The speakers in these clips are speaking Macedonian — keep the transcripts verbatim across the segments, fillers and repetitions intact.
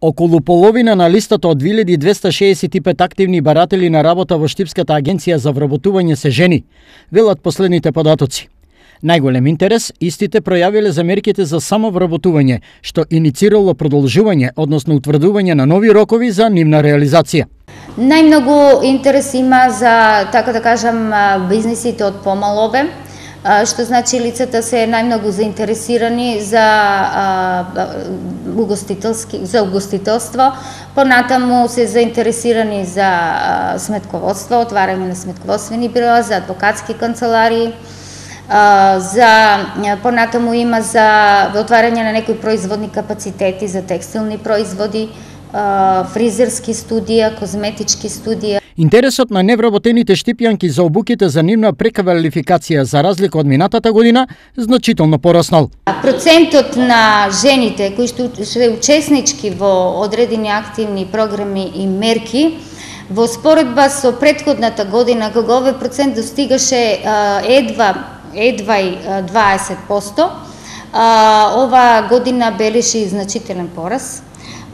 Околу половина на листата од две илјади двесте шеесет и пет активни баратели на работа во Штипската агенција за вработување се жени, велат последните податоци. Најголем интерес истите пројавиле за мерките за самовработување, што иницирало продолжување, односно утврдување на нови рокови за нивна реализација. Најмногу интерес има за, така да кажам, бизнисите од помал обем, што значи лицата се најмногу заинтересирани за угостителски за угостителство, понатаму се заинтересирани за сметководство, отварање на сметководствени бюроа, за адвокатски канцеларии, за понатаму има за отварање на некои производни капацитети за текстилни производи, фризерски студија, козметички студија. Интересот на невработените штипјанки за обуките за нивна преквалификација за разлика од минатата година значително пораснал. Процентот на жените кои што се учеснички во одредени активни програми и мерки во споредба со претходната година, кога овој процент достигаше едва едва и дваесет проценти, ова година бележи значителен порас.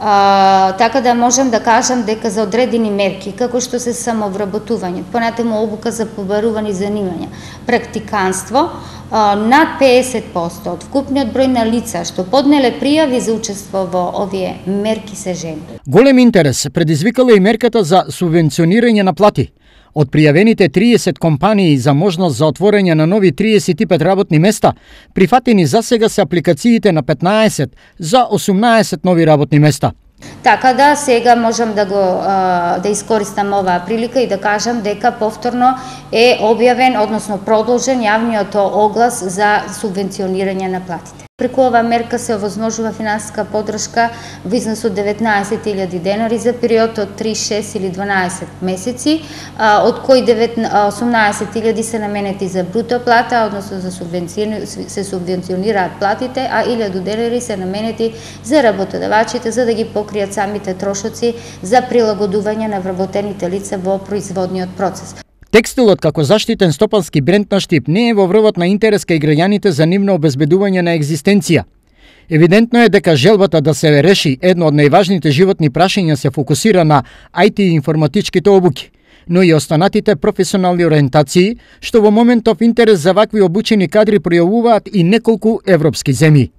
Uh, така да можам да кажам дека за одредени мерки, како што се самовработување, понатаму обука за побарувани занимања, практиканство, uh, над пеесет проценти од вкупниот број на лица што поднеле пријави за учество во овие мерки се жени. Голем интерес предизвикала и мерката за субвенционирање на плати. Од пријавените триесет компании за можност за отворање на нови триесет и пет работни места, прифатени за сега се апликациите на петнаесет за осумнаесет нови работни места. Така да сега можам да го да искористам оваа прилика и да кажам дека повторно е објавен, односно продолжен јавниот оглас за субвенционирање на платите. Преку оваа мерка се овозможува финансиска поддршка во износ од деветнаесет илјади денари за период од три, шест или дванаесет месеци, од кои осумнаесет илјади се наменети за бруто плата, односно за субвенција се субвенционираат платите, а илјаду денари се наменети за работодавачите за да ги покријат самите трошоци за прилагодување на вработените лица во производниот процес. Текстилот како заштитен стопански бренд на Штип не е во врвот на интерес кај граѓаните за нивно обезбедување на екзистенција. Евидентно е дека желбата да се реши едно од најважните животни прашања се фокусира на ај ти и информатичките обуки, но и останатите професионални ориентации, што во моментов интерес за вакви обучени кадри пројавуваат и неколку европски земји.